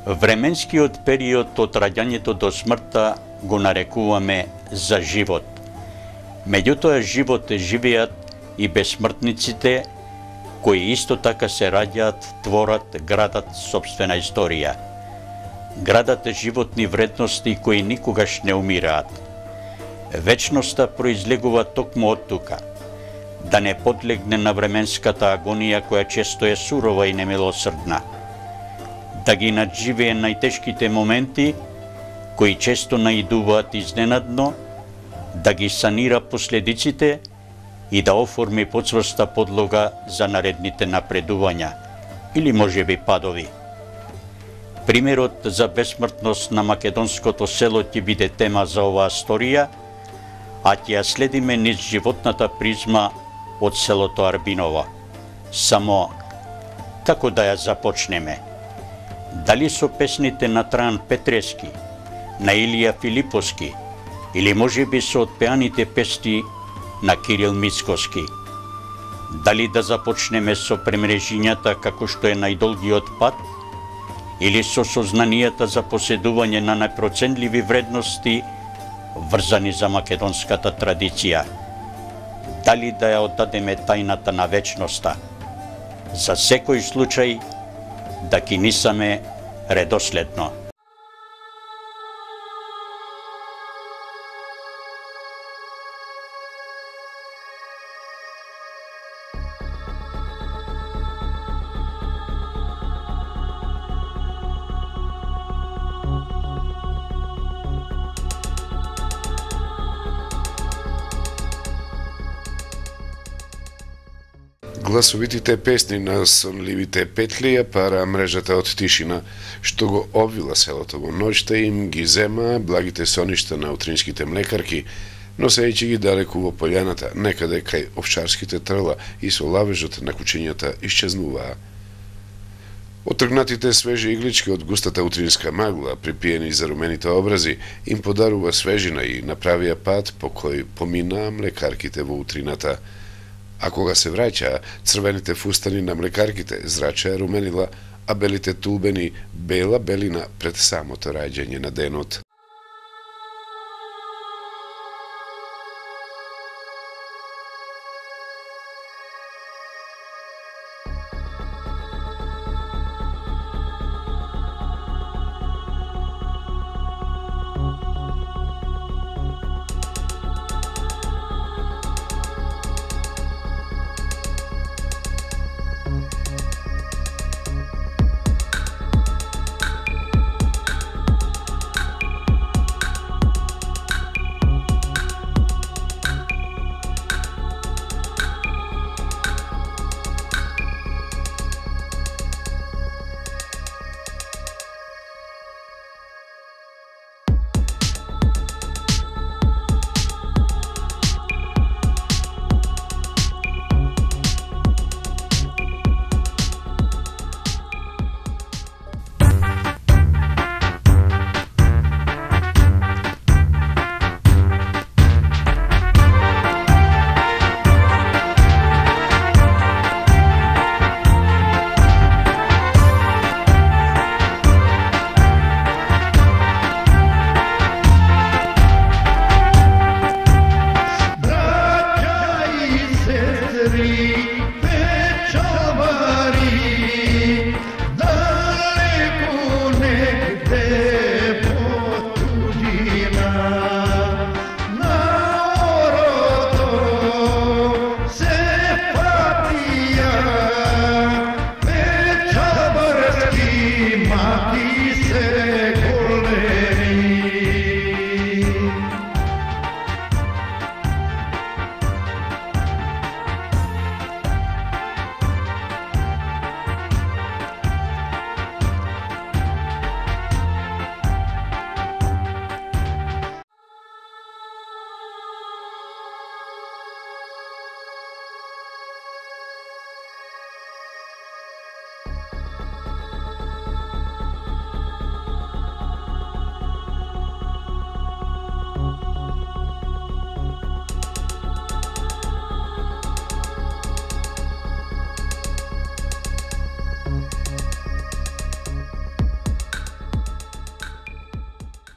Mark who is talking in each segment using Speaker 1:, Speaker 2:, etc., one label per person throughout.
Speaker 1: Временскиот период од раѓањето до смртта го нарекуваме за живот. Меѓутоа живот живеат и бесмртниците, кои исто така се раѓаат, творат, градат сопствена историја. Градат животни вредности кои никогаш не умираат. Вечноста произлегува токму од тука, да не подлегне на временската агонија која често е сурова и немилосрдна, да ги надживее најтешките моменти кои често наидуваат изненадно, да ги санира последиците и да оформи поцврста подлога за наредните напредувања или можеби падови. Примерот за бесмртност на македонското село ќе биде тема за оваа сторија, а ќе ја следиме низ животната призма од селото Арбиново. Само како да ја започнеме? Дали со песните на Трајан Петрески, на Илија Филиповски, или можеби со отпеаните песни на Кирил Мицкоски? Дали да започнеме со премрежињата како што е најдолгиот пат, или со сознанијата за поседување на најпроценливи вредности врзани за македонската традиција? Дали да ја отдадеме тајната на вечноста? За секој случај да ги нисаме редоследно.
Speaker 2: Гласовитите песни на сонливите петли ја пара мрежата од тишина, што го обвила селото во ноќта им ги зема благите соништа на утринските млекарки, носејќи ги далеку во полјаната, некаде кај овчарските трла и со лавежот на кучињата исчезнуваа. Отргнатите свежи иглички од густата утринска магла, припиени за румените образи, им подарува свежина и направија пат по кој поминаа млекарките во утрината. А кога се враќаа, црвените фустани на млекарките зрачеа руменила, а белите тулбени бела белина пред самото раѓање на денот.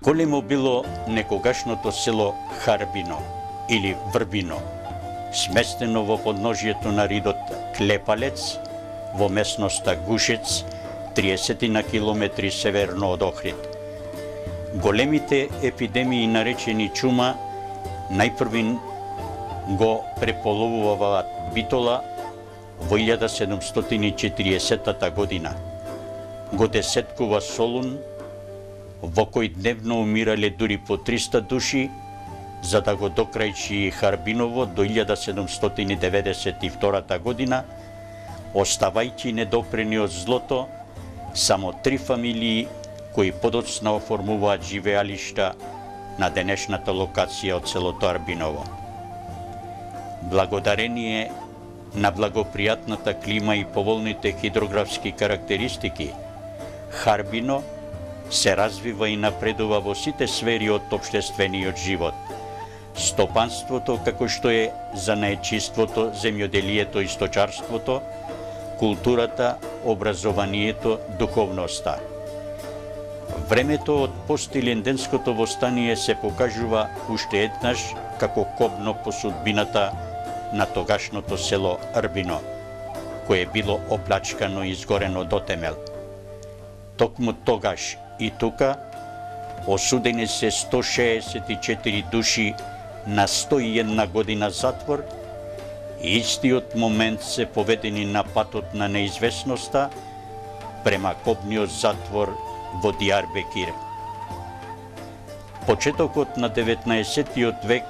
Speaker 1: Големо било некогашното село Харбино или Врбино, сместено во подножието на ридот Клепалец, во местноста Гушец, 30 на километри северно од Охрид. Големите епидемии наречени чума најпрвин го преполовуваат Битола во 1740 година. Го десеткува Солун, во кој дневно умирале дури по 300 души, за да го докрајчи и Харбиново до 1792 година, оставајќи недопрени од злото само 3 фамилии кои подоцна оформуваат живеалишта на денешната локација од селото Арбиново. Благодарение на благопријатната клима и поволните хидрографски карактеристики, Харбино се развива и напредува во сите сфери од општествениот живот. Стопанството, како што е занаетчиството, земјоделието и сточарството, културата, образованието, духовноста. Времето од постиленденското востание се покажува уште еднаш како кобно по судбината на тогашното село Арбино, кое било оплачкано и изгорено до темел. Токму тогаш и тука осудени се 164 души на 101 година затвор и истиот момент се поведени на патот на неизвестноста према кобниот затвор во Дијарбекир. Почетокот на 19 век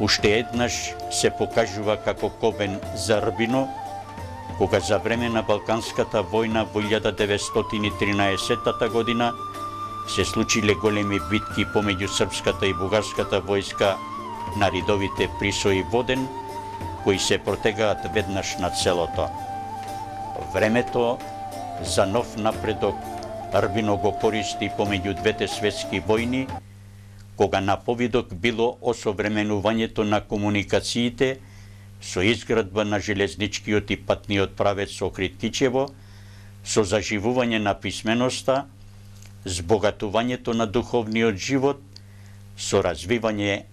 Speaker 1: уште еднаш се покажува како кобен за Арбино, кога за време на Балканската војна во 1913 година се случиле големи битки помеѓу српската и бугарската војска на ридовите Присо и Воден, кои се протегаат веднаш над селото. Времето за нов напредок Арбино го користи помеѓу двете светски војни, кога на повидок било осовременувањето на комуникациите со изградба на железничкиот и патниот правец Охрид-Кичево, со заживување на писменоста, збогатувањето на духовниот живот, со развивање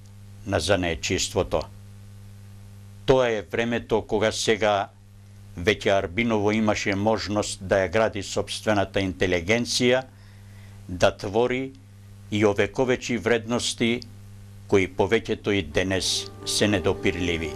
Speaker 1: на занаетчиството. Тоа е времето кога сега веќе Арбиново имаше можност да ја гради сопствената интелигенција, да твори и овековечи вредности кои повеќето и денес се недопирливи.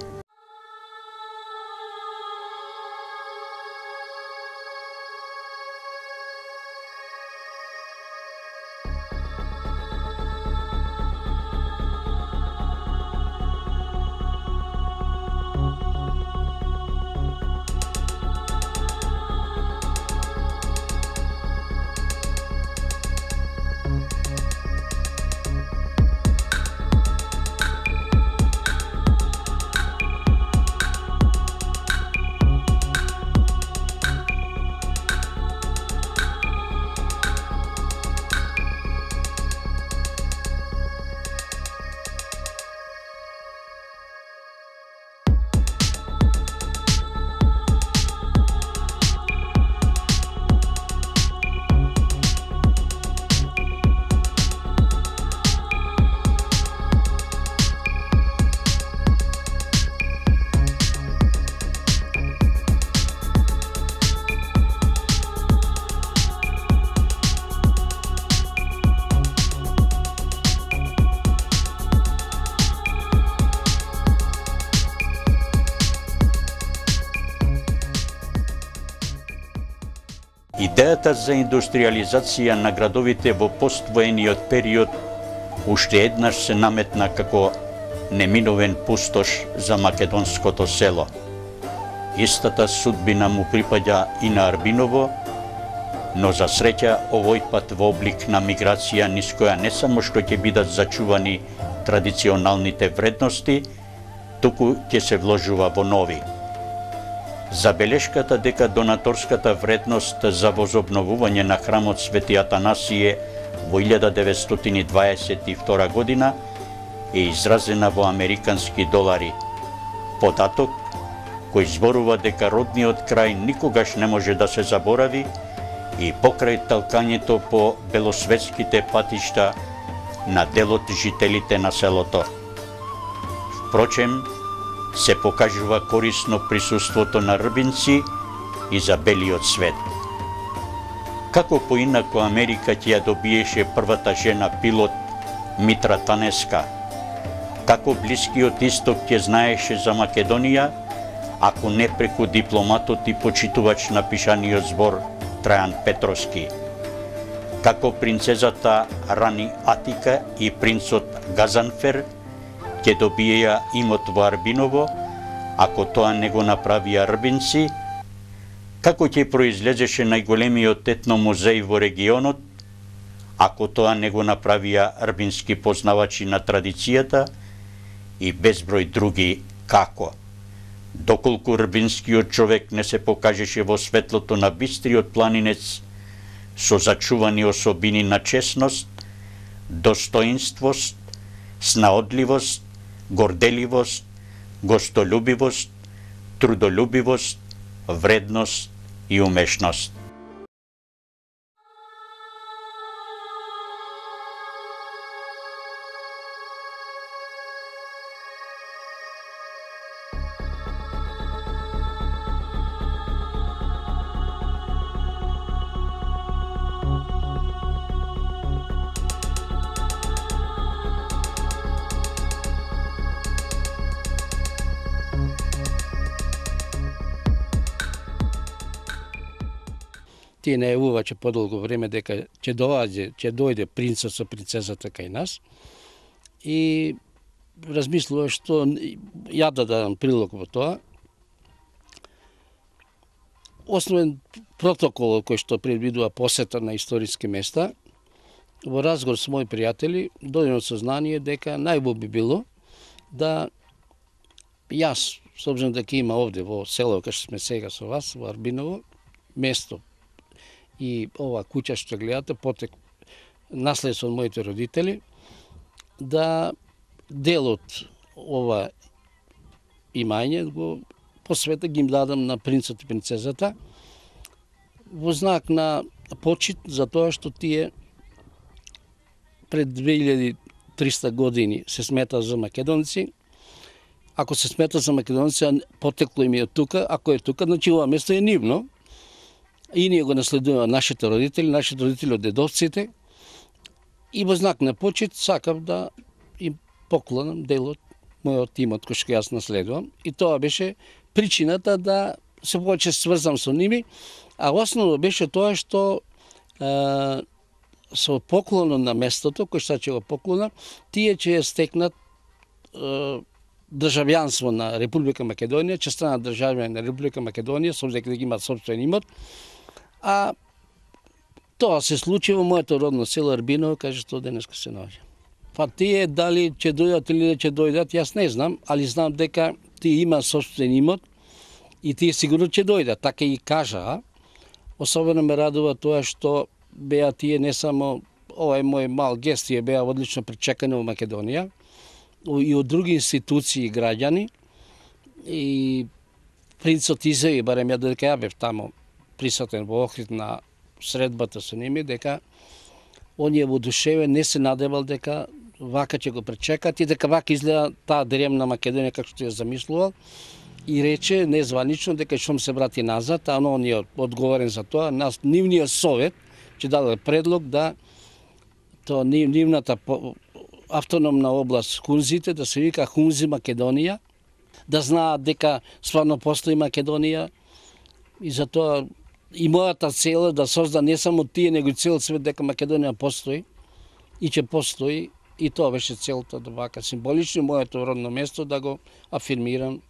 Speaker 1: Идејата за индустриализација на градовите во поствоениот период уште еднаш се наметна како неминовен пустош за македонското село. Истата судбина му припаѓа и на Арбиново, но за среќа овој пат во облик на миграција низ која не само што ќе бидат зачувани традиционалните вредности, туку ќе се вложува во нови. Забелешката дека донаторската вредност за возобновување на храмот Свети Атанасије во 1922 година е изразена во американски долари. Податок кој зборува дека родниот крај никогаш не може да се заборави и покрај талкањето по белосветските патишта на дел од жителите на селото. Впрочем, се покажува корисно присуството на рбинци и за белиот свет. Како поинако Америка ќе ја добиеше првата жена пилот Митра Танеска? Како Блискиот Исток ќе знаеше за Македонија, ако не преку дипломатот и почитувач на пишаниот збор Трајан Петровски? Како принцезата Рани Атика и принцот Газанфер ќе добиеја имот во Арбиново, ако тоа не го направија рбинци? Како ќе произлезеше најголемиот етномузеј во регионот, ако тоа не го направија рбински познавачи на традицијата и безброј други како? Доколку рбинскиот човек не се покажеше во светлото на бистриот планинец со зачувани особини на честност, достоинствост, снаодливост, горделивост, гостолюбивост, трудолюбивост, вредност и умешност.
Speaker 3: Тие најавуваче подолго време дека ќе дојде принцот со принцезата кај нас и размислува што ја да дадам прилог во тоа. Основен протокол кој што предвидува посета на историски места, во разговор со мои пријатели дојдено сознание дека најбо би било да јас, с обзиром дека има овде во село кај што сме сега со вас, во Арбиново, место и ова куќа што гледате, потек наследство од моите родители, да делот ова имање го посвета ги им дадам на принцот и принцезата во знак на почит за тоа што тие пред 2300 години се смета за македонци. Ако се смета за македонци, потекло им е од тука, ако е тука, значи ова место е нивно. И ние го наследуваме нашите родители од дедовците. И во знак на почит сакам да им поклонам дел од мојот имот кој што јас наследувам. И тоа беше причината да се повеќе сврзам со ними, а основно беше тоа што со поклонот на местото, кој што ќе го поклона, тие ќе стекнат државјанство на Република Македонија, ќе станат државјани на Република Македонија, со дека имаат сопствен имот. А тоа се случи во моето родно село Арбиново, кај што денеска се наоѓа. Па тие дали ќе дојдат или не ќе дојдат, јас не знам, али знам дека тие има сопствен имот и тие сигурно ќе дојдат, така и кажа. Особено ме радува тоа што беа тие не само, ова е мој мал гест, тие беа одлично причекани во Македонија и од други институции и граѓани. И принцот изјави, барем ја додека ја бев тамо присутен во Охрид на средбата со ними, дека он е воодушевен, не се надевал дека вака ќе го пречекат и дека вака изгледа таа древна Македонија како што ја замислувал, и рече незванично дека што се врати назад, а он е одговорен за тоа. Нивниот совет ќе даде предлог да тоа нивната автономна област Хунзите да се вика Хунзи Македонија, да знаат дека стварно постои Македонија, и затоа и мојата цел е да созда не само тие, него и цел свет дека Македонија постои и ќе постои, и тоа беше целта да вака символично моето родно место да го афирмирам.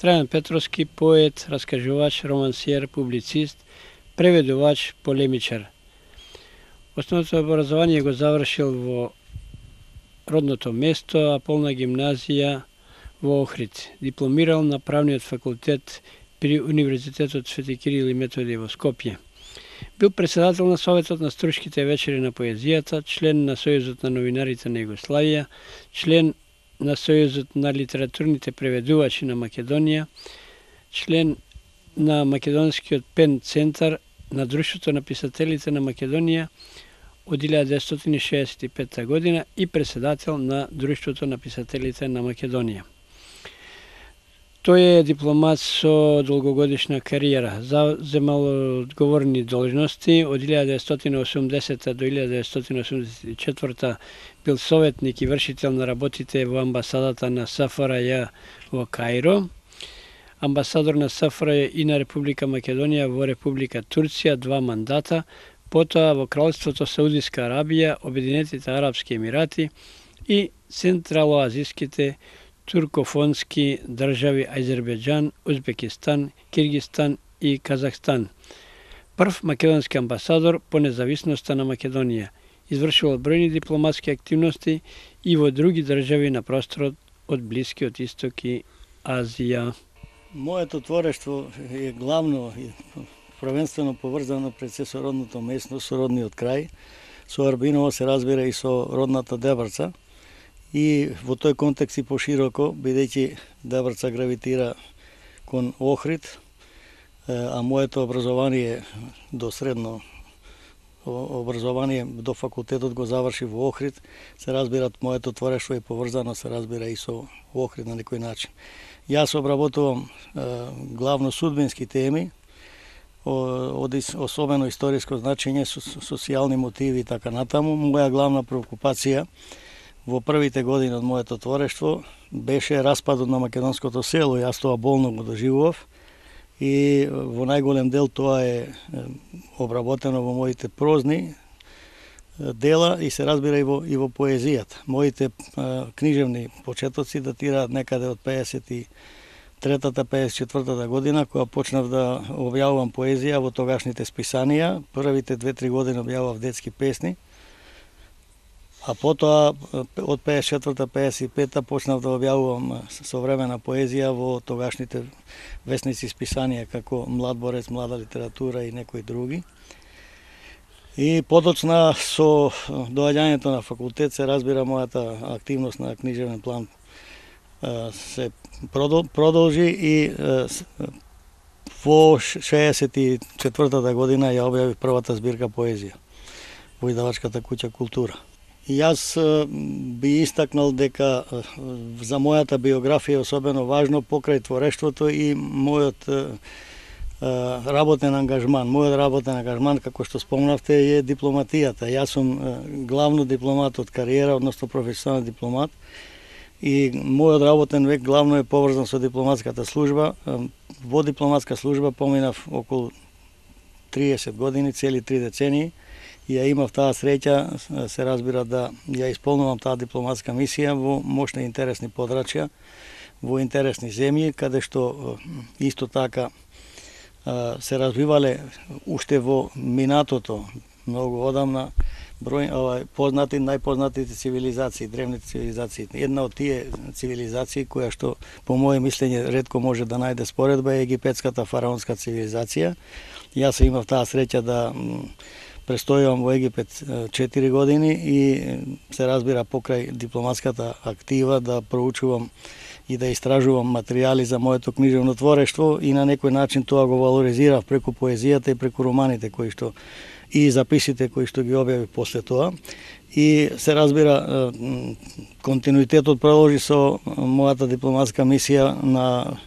Speaker 4: Трајан Петровски, поет, раскажувач, романсиер, публицист, преведувач, полемичар. Основното образование го завршил во родното место, а полна гимназија во Охрид. Дипломирал на правниот факултет при Универзитетот Свети Кирил и Методи во Скопје. Бил председател на Советот на стручките вечери на поезијата, член на Сојузот на новинарите на Југославија, член на Сојузот на литературните преведувачи на Македонија, член на Македонскиот пен центар на Друштвото на писателите на Македонија од 1965 година и председател на Друштвото на писателите на Македонија. Тој е дипломат со долгогодишна кариера. Земал одговорни должности од 1980 до 1984 бил советник и вршител на работите во амбасадата на СФРЈ во Каиро, амбасадор на СФРЈ и на Република Македонија во Република Турција 2 мандата, потоа во Кралството Саудиска Арабија, Обединетите Арапски Емирати и Централоазиските туркофонски држави Азербејџан, Узбекистан, Киргистан и Казахстан. Прв македонски амбасадор по независноста на Македонија. Извршувал бројни дипломатски активности и во други држави на просторот од Блискиот Исток и Азија.
Speaker 5: Моето творештво е главно и првенствено поврзано пред се со родното место, со родниот крај. Со Арбиново се разбира и со родната Дебрца. И во тој контекст и пошироко, бидејќи Дебрца гравитира кон Охрид, а моето образование до средно образование до факултетот го заврши во Охрид, се разбира моето творештво е поврзано, се разбира и со Охрид на некој начин. Јас обработувам главно судбински теми, од особено историско значење, социјални мотиви и така натаму. Моја главна преокупација во првите години од моето творештво беше распадот на македонското село. Јас тоа болно го доживував и во најголем дел тоа е обработено во моите прозни дела и се разбира и во поезијата. Моите книжевни почетоци датираат некаде од 53-54 година, кога почнав да објавувам поезија во тогашните списанија. Првите 2-3 години објавував детски песни, а потоа од 54-55 почнав да објавувам современа поезија во тогашните весници списанија како Млад борец, Млада литература и некои други. И подоцна со доаѓањето на факултет се разбира мојата активност на книжевен план се продолжи и во 64-та година ја објавив првата збирка поезија во издавачката куќа Култура. И јас би истакнал дека за мојата биографија е особено важно покрај творештвото и мојот работен ангажман. Мојот работен ангажман, како што спомнавте, е дипломатијата. Јас сум главно дипломат од кариера, односно професионален дипломат. И мојот работен век главно е поврзан со дипломатската служба. Во дипломатска служба поминав околу 30 години, цели 3 децении. И ја имав таа среќа, се разбира, да ја исполнувам таа дипломатска мисија во мощни и интересни подрачја, во интересни земји, каде што исто така се развивале уште во минатото, многу одамна, најпознатите цивилизации, древните цивилизации. Една од тие цивилизации која што по моје мислење ретко може да најде споредба е египетската фараонска цивилизација. Јас имав таа среќа да престојувам во Египет 4 години и се разбира покрај дипломатската актива да проучувам и да истражувам материјали за моето книжевно творештво и на некој начин тоа го валоризирав преку поезијата и преку романите кои што и записите кои што ги објавив после тоа. И се разбира континуитетот продолжи со мојата дипломатска мисија на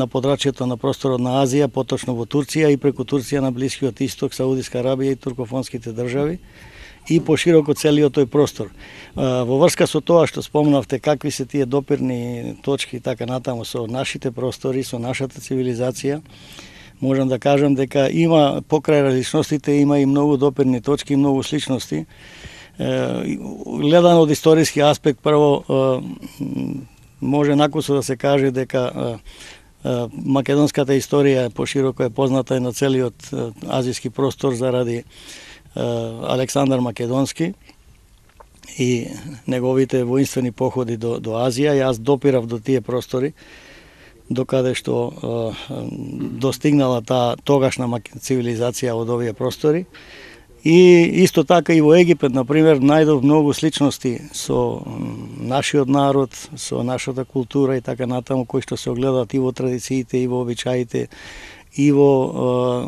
Speaker 5: подрачјето на просторот на Азија, поточно во Турција и преку Турција на Блискиот Исток, Саудиска Арабија и туркофонските држави и пошироко целиот тој простор. Во врска со тоа што спомнавте какви се тие допирни точки и така натаму со нашите простори, со нашата цивилизација, можам да кажам дека има покрај различностите има и многу допирни точки и многу сличности. Гледано од историски аспект, прво може накусо да се каже дека македонската историја пошироко е позната и на целиот азиски простор заради Александар Македонски и неговите воинствени походи до Азија. Јас допирав до тие простори, докаде што достигнала таа тогашна цивилизација од овие простори. И исто така и во Египет, например, најдов многу сличности со нашиот народ, со нашата култура и така натаму, кои што се огледаат и во традициите, и во обичаите, и во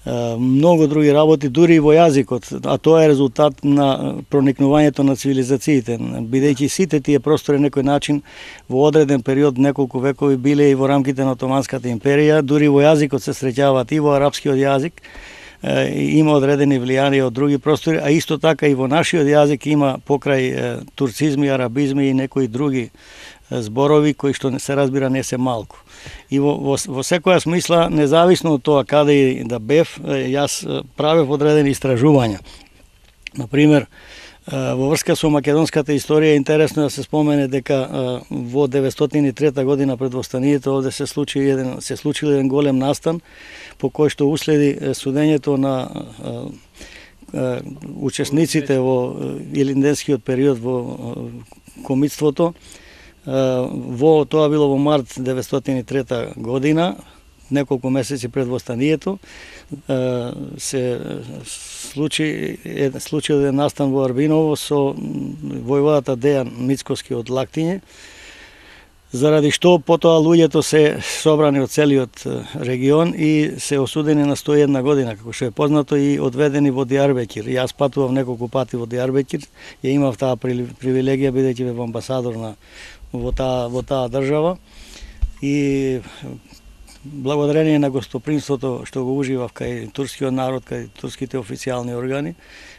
Speaker 5: многу други работи, дури и во јазикот, а тоа е резултат на проникнувањето на цивилизациите, бидејќи сите тие простори на некој начин во одреден период, неколку векови, биле и во рамките на Отоманската империја, дури во јазикот се среќаваат и во арапскиот јазик, има одредени влијанија од други простори, а исто така и во нашиот јазик има покрај турцизми, арабизми и некои други зборови кои што се разбира не се малку. И во секоја смисла, независно од тоа каде и да бев, јас правев одредени истражувања. Например, во врска со македонската историја е интересно да се спомене дека во 903 година пред восстанието овде се случил еден голем настан по кој што уследи судењето на учесниците во илинденскиот период во комитството. Тоа било во март 903 година, неколку месеци пред восстанието, се случил еден настан во Арбиново со војводата Дејан Мицкоски од Лактиње, заради што потоа луѓето се собрани од целиот регион и се осудени на 101 година, како што е познато, и одведени во Дијарбекир. Јас патував неколку пати во Дијарбекир, ја имав таа привилегија бидејќи бев амбасадор во таа држава и благодарение на гостопримството што го уживав кај турскиот народ, кај турските официјални органи,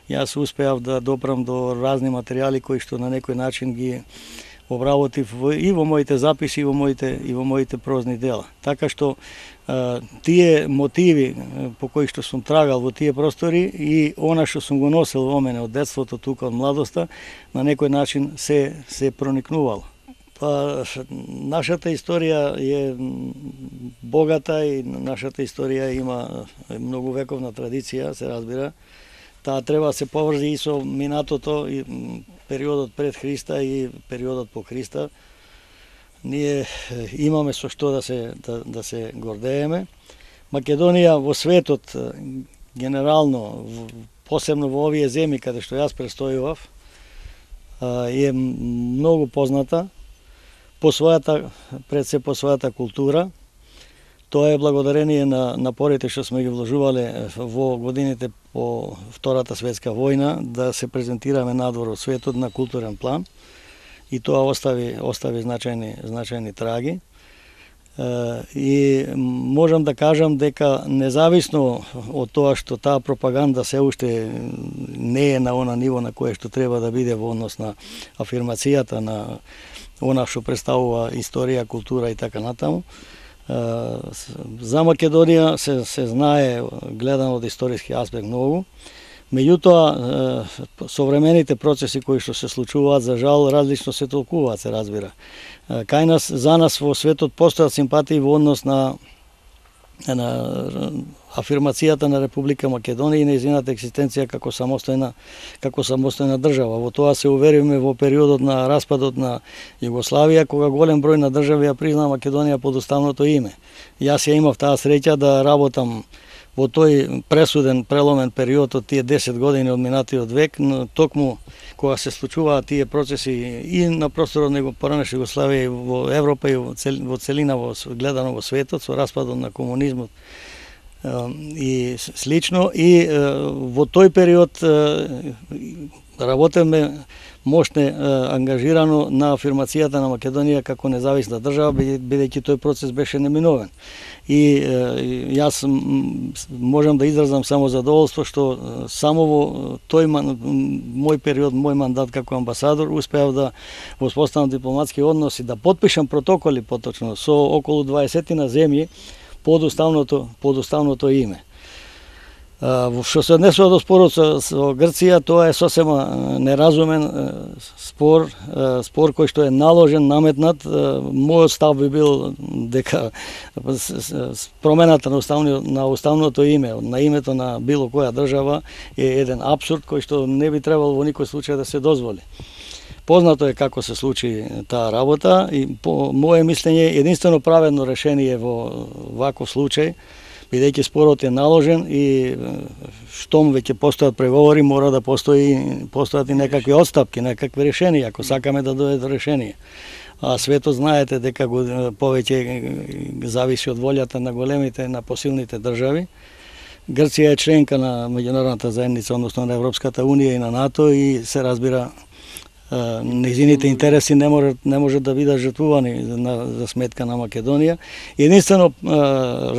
Speaker 5: јас успеав да допрам до разни материјали кои што на некој начин ги обработив и во моите записи и во моите прозни дела. Така што тие мотиви по кои што сум трагал во тие простори и она што сум го носел во мене од детството, тука од младоста, на некој начин се проникнувало. Нашата историја е богата и нашата историја има многу вековна традиција, се разбира. Таа треба да се поврзи и со минатото, и периодот пред Христа и периодот по Христа. Ние имаме со што да се гордееме. Македонија во светот, генерално, посебно во овие земји каде што јас престојував, е многу позната пред се по својата култура. Тоа е благодарение на напорите што сме ги вложувале во годините по Втората светска војна да се презентираме надвор од светот на културен план и тоа остави значајни траги. И можам да кажам дека независно од тоа што таа пропаганда се уште не е на она ниво на кое што треба да биде во однос на афирмацијата на она што представува историја, култура и така натаму, за Македонија се знае, гледано од историски аспект, многу. Меѓутоа, современите процеси кои што се случуваат, за жал, различно се толкуваат, се разбира. Кај нас, за нас во светот постојат симпатии во однос на афирмацијата на Република Македонија и нејзината екзистенција како самостојна држава. Во тоа се уверивме во периодот на распадот на Југославија, кога голем број на држави ја признаа Македонија под уставното име. Јас ја имав таа среќа да работам во тој пресуден, преломен период од тие 10 години од минатиот век, токму кога се случуваат тие процеси и на просторот на поранешна Југославија и во Европа и во целина гледано во светот, со распадот на комунизмот и слично. И во тој период работевме мощне ангажирано на афирмацијата на Македонија како независна држава, бидејќи тој процес беше неминовен. И јас можам да изразам само задоволство што само во тој мој период, мој мандат како амбасадор, успеав да воспоставам дипломатски односи, да потпишам протоколи поточно со околу 20 земји под уставното име. Што се однесува до спорот со Грција, тоа е сосема неразумен спор кој што е наложен, наметнат. Мојот став би бил дека промената на уставното име, на името на било која држава е еден апсурд кој што не би требало во никој случај да се дозволи. Познато е како се случи таа работа и по моје мислење единствено праведно решение во ваков случај, бидејќи спорот е наложен и штом веќе постојат преговори, мора да постојат и некакви отстапки, некакви решенија, ако сакаме да дојде до решение. А светот знаете дека повеќе зависи од волјата на големите, на посилните држави. Грција е членка на меѓународната заедница, односно на Европската унија и на НАТО, и се разбира нејзините интереси не може да бидат жртвувани за сметка на Македонија. Единствено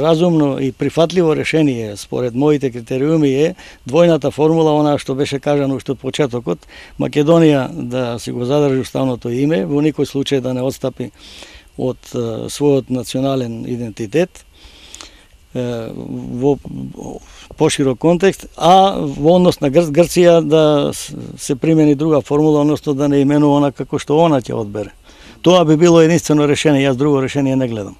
Speaker 5: разумно и прифатливо решение според моите критериуми е двојната формула, она што беше кажано уште од почетокот, Македонија да си го задржи уставното име, во никој случај да не отстапи од својот национален идентитет во поширок контекст, а во однос на Грција да се примени друга формула, односно да не именува она како што она ќе одбере. Тоа би било единствено решение, јас друго решение не гледам.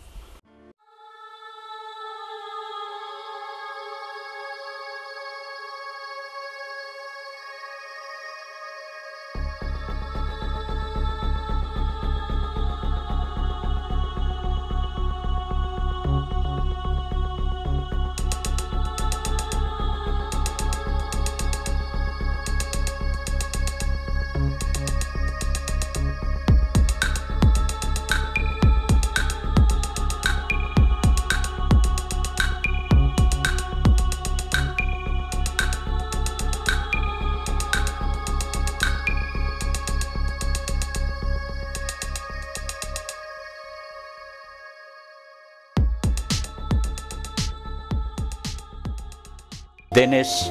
Speaker 1: Денес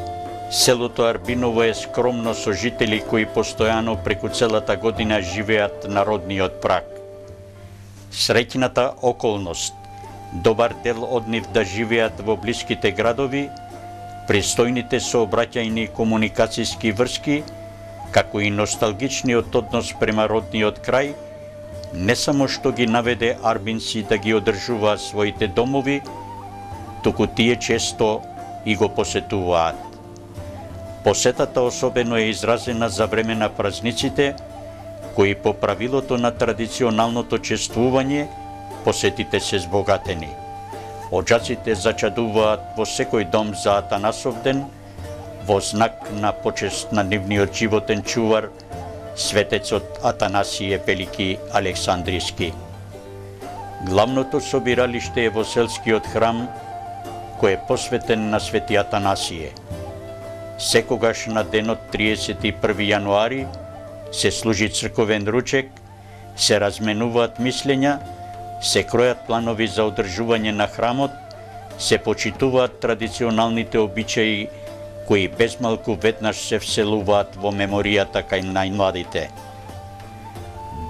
Speaker 1: селото Арбиново е скромно со жители кои постојано преку целата година живеат на родниот праг. Среќната околност, добар дел од нив да живеат во блиските градови, пристојните сообраќајни комуникацијски врски, како и носталгичниот однос према родниот крај, не само што ги наведе арбинци да ги одржуваат своите домови, туку тие често и го посетуваат. Посетата особено е изразена за време на празниците, кои по правилото на традиционалното чествување, посетите се збогатени. Оджаците зачадуваат во секој дом за Атанасов ден, во знак на почест на нивниот животен чувар, светецот Атанасије Велики Александриски. Главното собиралиште е во селскиот храм, кој е посветен на Свети Атанасије. Секогаш на денот 31 јануари се служи црковен ручек, се разменуваат мислења, се кројат планови за одржување на храмот, се почитуваат традиционалните обичаи кои безмалку веднаш се вселуваат во меморијата кај најмладите.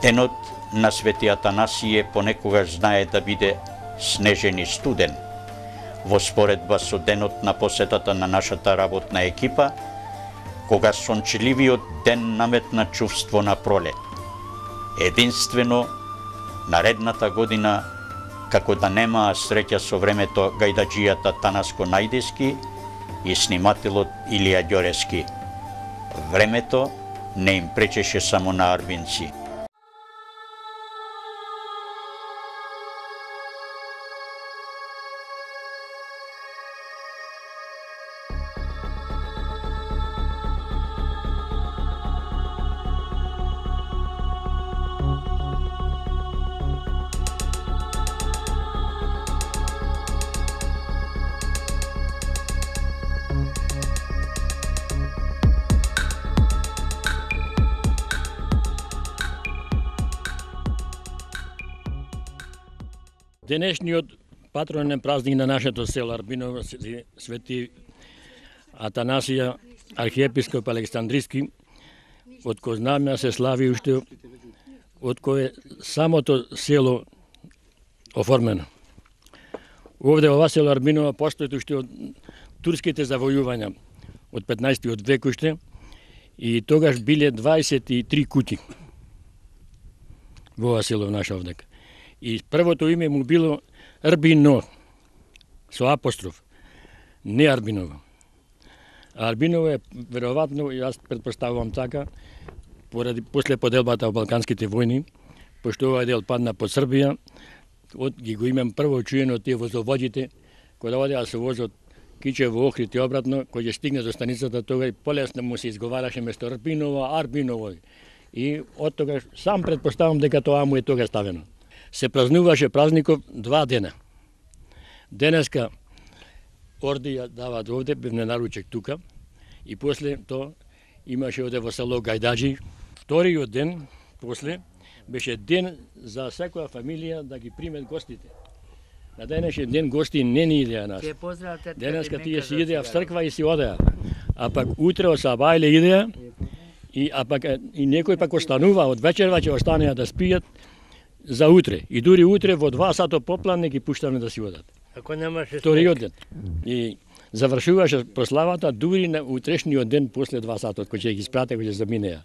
Speaker 1: Денот на Свети Атанасије понекогаш знае да биде снежен и студен. Во споредба со денот на посетата на нашата работна екипа, кога сончеливиот ден наметна чувство на пролет. Единствено, наредната година, како да немаа среќа со времето гајдаџијата Танаско Најдески и снимателот Илија Ѓорески. Времето не им пречеше само на арбинци.
Speaker 6: Денешниот патронен празник на нашето село Арбиново, Свети Атанасија, архиепископ Александриски, од кој знаме се слави уште, од кој самото село оформено. Овде ова село Арбиново постои уште од турските завојувања од 15-тиот век уште, и тогаш биле 23 куќи во ова село наше овдека. И првото име му било Арбино, со апостроф, не Арбиново. Арбиново е, веројатно, јас предпоставувам така, после поделбата во Балканските војни, пошто овој дел падна под Србија, ги го имам прво чуено тие возоводите, кога одеа со возот Кичево, Охрид и обратно, кој ќе стигне до станицата, тога и полесно му се изговараше место Арбиново, Арбиново. И од тогаш сам предпоставам дека тоа му е тога ставено. Се празнуваше празников 2 дена. Денеска ордија дават овде, бевне наручек тука, и после тоа имаше овде во село Гајдаджи. Вториот ден, после, беше ден за секоја фамилија да ги примет гостите. На денешен ден гости не ни идеа нас. Денеска тие си идеа в црква и си одеа. А пак утре од сабајле идеа, а пак и некој пак останува, од вечерва ќе останеа да спијат за утре. И дури утре во 2 сато поплан не ги пуштаме да си одат.
Speaker 4: Ако немаше
Speaker 6: вториот ден. И завршуваше прославата дури на утрешниот ден после 2 сатот, кој ќе ги спрате, кој ќе заминеа.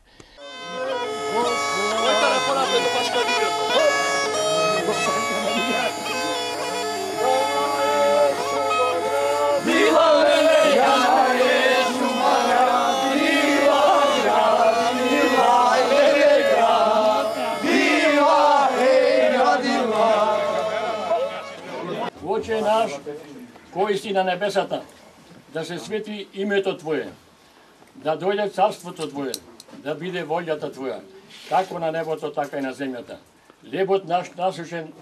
Speaker 6: Отче наш, кој си на небесата, да се свети името Твое, да дојде царството Твое, да биде волјата Твоја, како на небото, така и на земјата. Лебот наш насушен,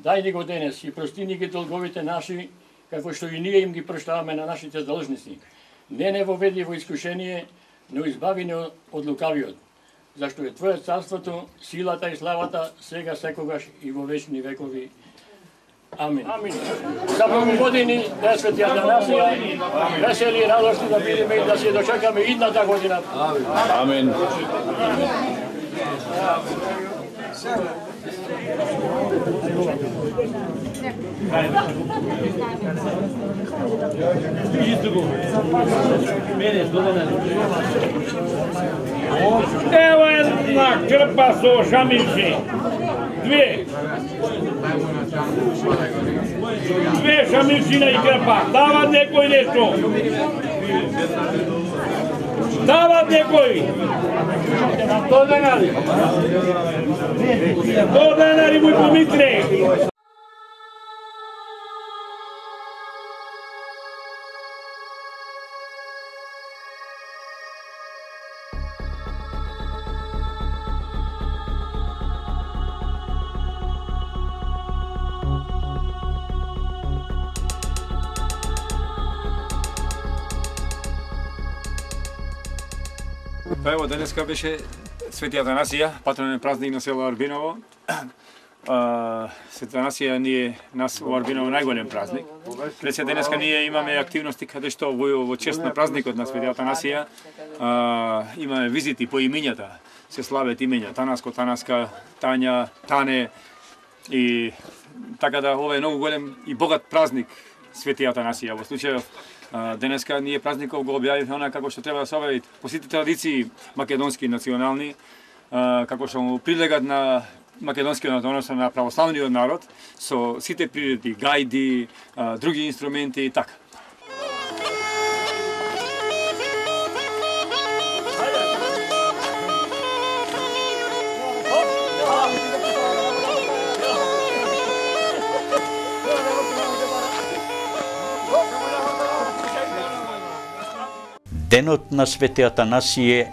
Speaker 6: дај ни го денес и прости ни ги долговите наши, како што и ние им ги проштаваме на нашите должници. Не воведи во искушение, но избави ни од лукавиот, зашто е Твое царството, силата и славата, сега секогаш и во вечни векови. Амин. За многу години да свети Атанасија, весели и радосни да бидеме и да се дочекаме идната година.
Speaker 7: Амин.
Speaker 8: Ево една крпа со шамилчи. Две шамилчина и крпа. Дават некој нешто. Дават некој. 100 денари. 100 денари му помитре.
Speaker 9: Па ево, денеска беше Свети Атанасија, патронен празник на село Арбиново. Свети Атанасија нас во Арбиново најголем празник. Рече денеска ние имаме активности каде што во чест на празникот на Свети Атанасија имаме визити по имињата. Се слават имиња Танаско, Танаска, Тања, Тане и така да ова е многу голем и богат празник Свети Атанасија. Во случајов денеска ние празников го објавивме она како што треба да се објават по сите традиции македонски национални, како што му прилегат на македонскиот, односно на православниот народ, со сите приредби, гајди, други инструменти и така.
Speaker 1: Денот на Свети Атанасије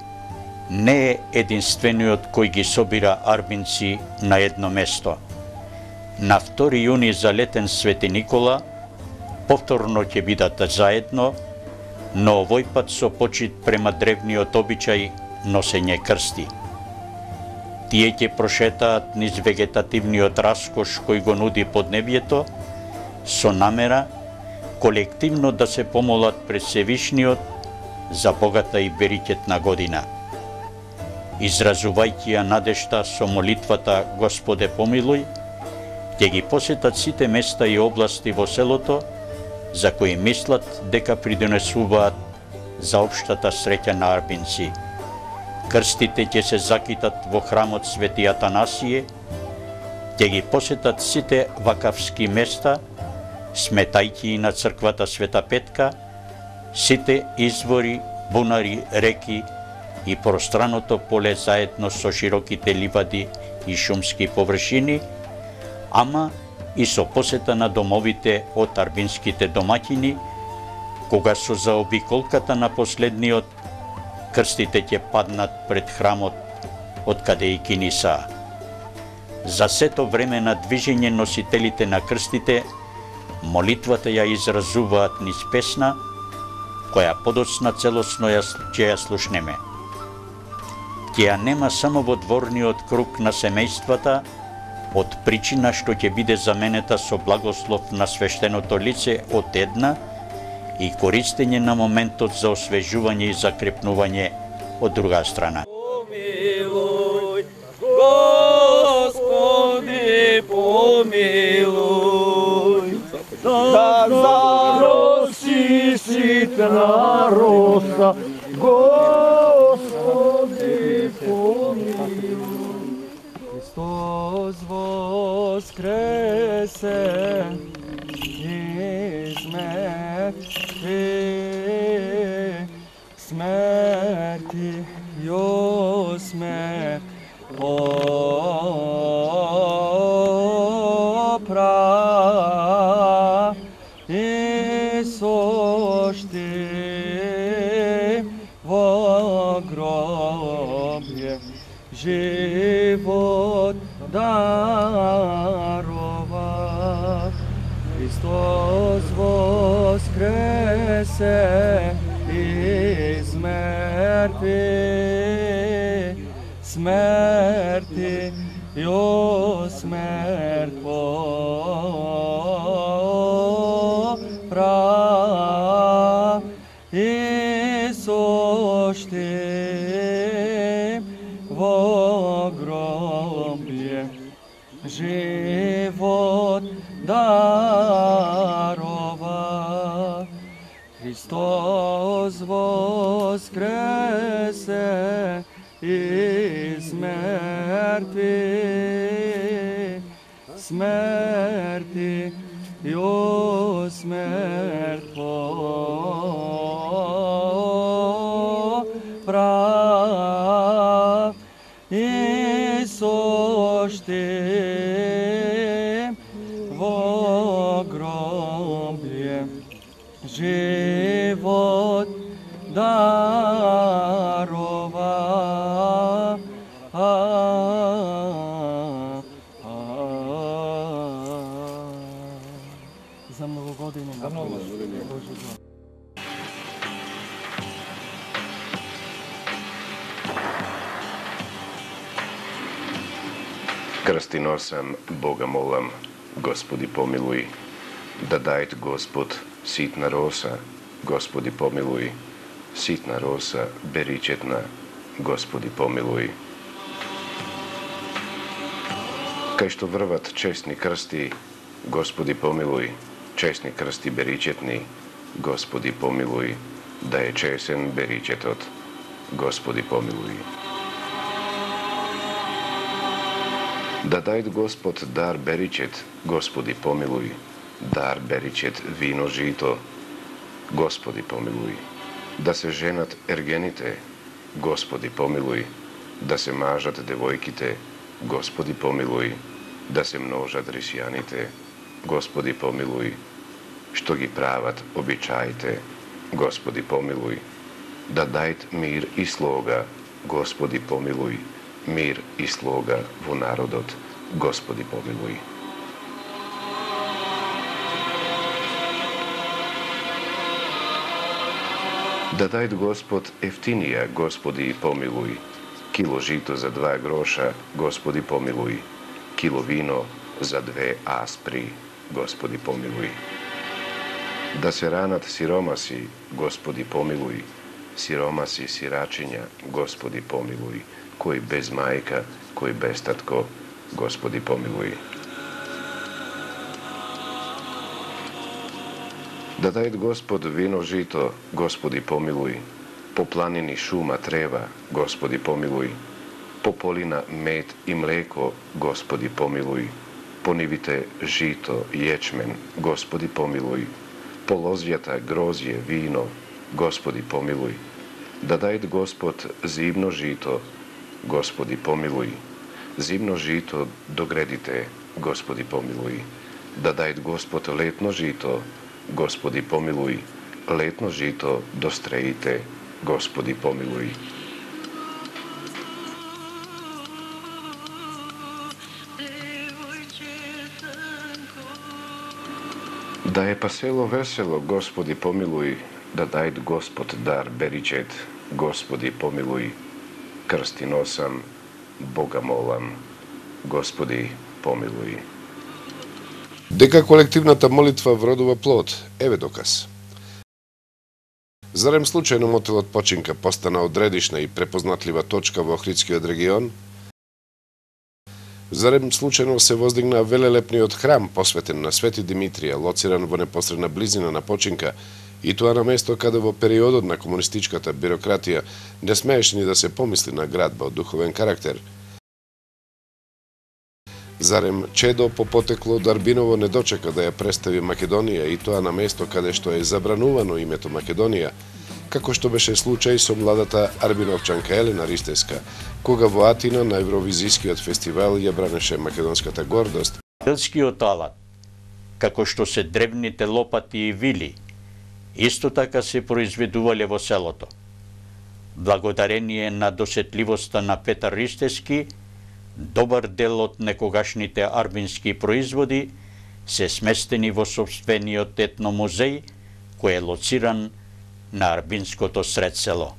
Speaker 1: не е единствениот кој ги собира арбинци на едно место. На 2 јуни за летен Свети Никола повторно ќе бидат заедно, но овој пат со почит према древниот обичај носење крсти. Тие ќе прошетаат низ вегетативниот раскош кој го нуди поднебјето, со намера колективно да се помолат пред Севишниот за богата и берикетна година. Изразувајќи ја надежта со молитвата Господе помилуј, ќе ги посетат сите места и области во селото за кои мислат дека придонесуваат за општата среќа на арбинци. Крстите ќе се закитат во храмот Свети Атанасие, ќе ги посетат сите вакавски места, сметајќи и на црквата Света Петка, сите извори, бунари, реки и пространото поле заедно со широките ливади и шумски површини, ама и со посета на домовите од арбинските домаќини, кога со заобиколката на последниот, крстите ќе паднат пред храмот од каде и киниса. За сето време на движење носителите на крстите, молитвата ја изразуваат низ песна, која подоцна целосно ќе ја слушнеме. Ќе ја нема само во дворниот круг на семејствата, од причина што ќе биде заменета со благослов на свештеното лице од една и користење на моментот за освежување и закрепнување од друга страна.
Speaker 7: Помилуј, Господи, помилуј, да зароси ситна роса, Господи, помилуј. Христос воскресе из мертвих, смерти јо смерт попра и сошти во гробје живот дарова. Христос воскресе из мертвих, смерти јо смерт попра и сошти во гробје живот дарова. Христос воскресе из мертвих, смерти јо смерт попра и сошти во гробје живот дарова. За многу години.
Speaker 2: Крсти носам, Бога молам, Господи помилуј, да дајт Господ ситна роса, Господи помилуј, ситна роса, беричетна, Господи помилуј. Кај што врват честни крсти, Господи помилуј, честни крсти беричетни, Господи помилуј, да е чесен беричетот, Господи помилуј. Да дајт Господ дар беричет, Господи помилуј, дар беричет вино жито, Господи помилуј. Да се женат ергените, Господи помилуј, да се мажат девојките, Господи помилуј, да се множат рисјаните, Господи помилуј, што ги прават обичаите, Господи помилуј. Да дајт мир и слога, Господи помилуј, мир и слога во народот, Господи помилуј. Да дајт Господ ефтинија, Господи помилуј, кило жито за 2 гроша, Господи помилуј, кило вино за 2 аспри, Господи помилуј. Да се ранат сиромаси, Господи помилуј, сиромаси, сирачиња, Господи помилуј, кој без мајка, кој без татко, Господи помилуј. Да дајт Господ вино жито, Господи помилуј. По планини шума трева, Господи помилуј. По полина мед и млеко, Господи помилуј. По нивите жито, јечмен, Господи помилуј. По лозјата грозје, вино, Господи помилуј. Да дајт Господ зимно жито, Господи помилуј. Зимно жито до гредите, Господи помилуј. Да дајт Господ летно жито, Господи помилуј. Летно жито до стреите, Господи помилуј. Да е пасело весело, Господи помилуј. Да дајт Господ дар беричет, Господи помилуј. Крсти носам, Бога молам, Господи помилуј. Дека колективната молитва вродува плод, еве доказ. Зарем случајно мотелот Починка постана одредишна и препознатлива точка во Охридскиот регион? Зарем случајно се воздигна велелепниот храм посветен на Свети Димитрија, лоциран во непосредна близина на Починка, и тоа на место каде во периодот на комунистичката бирократија не смееше ни да се помисли на градба од духовен карактер? Зарем чедо по потекло од Арбиново не дочека да ја представи Македонија и тоа на место каде што е забранувано името Македонија, како што беше случај со младата арбиновчанка Елена Ристевска, кога во Атина на Евровизискиот фестивал ја бранеше македонската гордост.
Speaker 1: Делскиот алат, како што се древните лопати и вили, исто така се произведувале во селото. Благодарение на досетливоста на Петар Ристевски, добар дел од некогашните арбински производи се сместени во сопствениот етномузеј, кој е лоциран на арбинското сред село.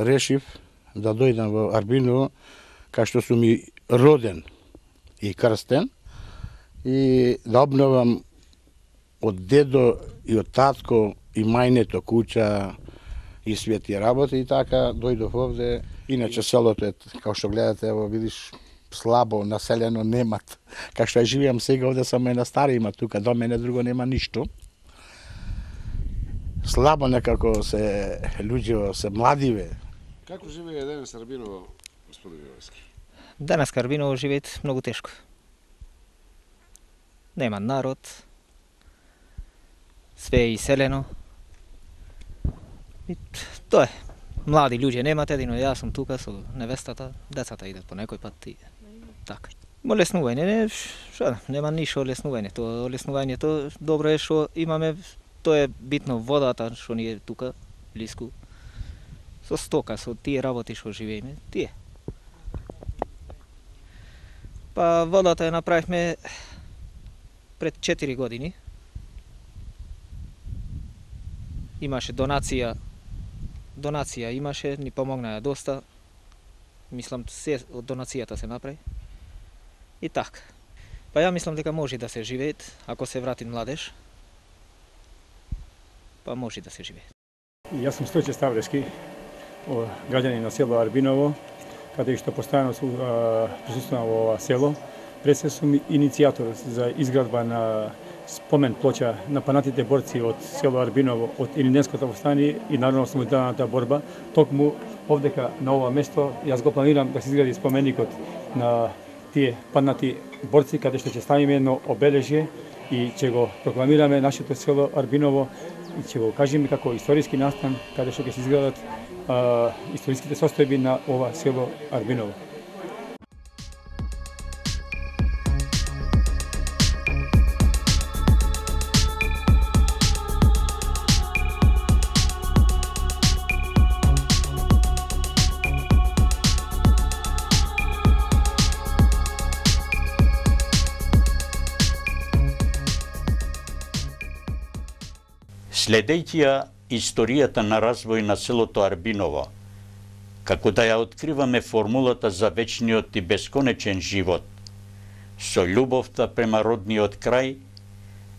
Speaker 3: Решив да дојдам во Арбиново, кај што сум и роден и крстен, и да обновам од дедо и од татко и мајнето куќа и свети работи, и така дојдов овде. Иначе селото е, како што гледате, ево видиш, слабо населено, немат. Кај што ја живеам сега овде, само една стара има тука, до мене друго нема ништо. Слабо некако се луѓе, се младиве.
Speaker 2: Како живее денес Арбиново, господин Јовски?
Speaker 10: Денес Арбиново живеет многу тешко. Нема народ, све е иселено. И тоа е. Млади луѓе немате, едино јас сум тука со невестата, децата идат по некој пат и така. Олеснување, нема ништо олеснување. Тоа олеснувањето добро е што имаме, тоа е битно водата што ни е тука блиску. Со стока, со тие работи што живееме, тие. Па водата ја направивме пред 4 години. Имаше донација имаше, ни помогнаа доста. Мислам, се од донацијата се направи. И така. Па ја мислам дека може да се живеет, ако се врати младеж. Па може да се живее.
Speaker 9: Јас сум Стојче Ставлевски, граѓанин на село Арбиново, каде што постојано присуствувам во ова село. Пред се сум иницијатор за изградба на спомен плоча на панатите борци од село Арбиново, од Илинденското востание и народно-освободителната борба. Токму овдека на ова место јас го планирам да се изгради споменикот на тие панати борци, каде што ќе ставиме едно обележје и ќе го прокламираме нашето село Арбиново ќе го кажеме како историски настан каде што ќе се изградат историските состојби на ова село Арбиново.
Speaker 1: Следејќи ја историјата на развој на селото Арбиново, како да ја откриваме формулата за вечниот и бесконечен живот, со љубовта према родниот крај,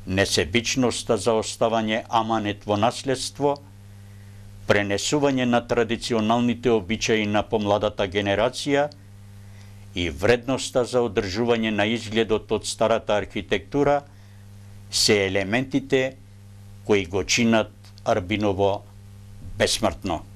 Speaker 1: несебичноста за оставање аманет во наследство, пренесување на традиционалните обичаи на помладата генерација и вредноста за одржување на изгледот од старата архитектура, се елементите кои го чинат Арбиново бесмртно.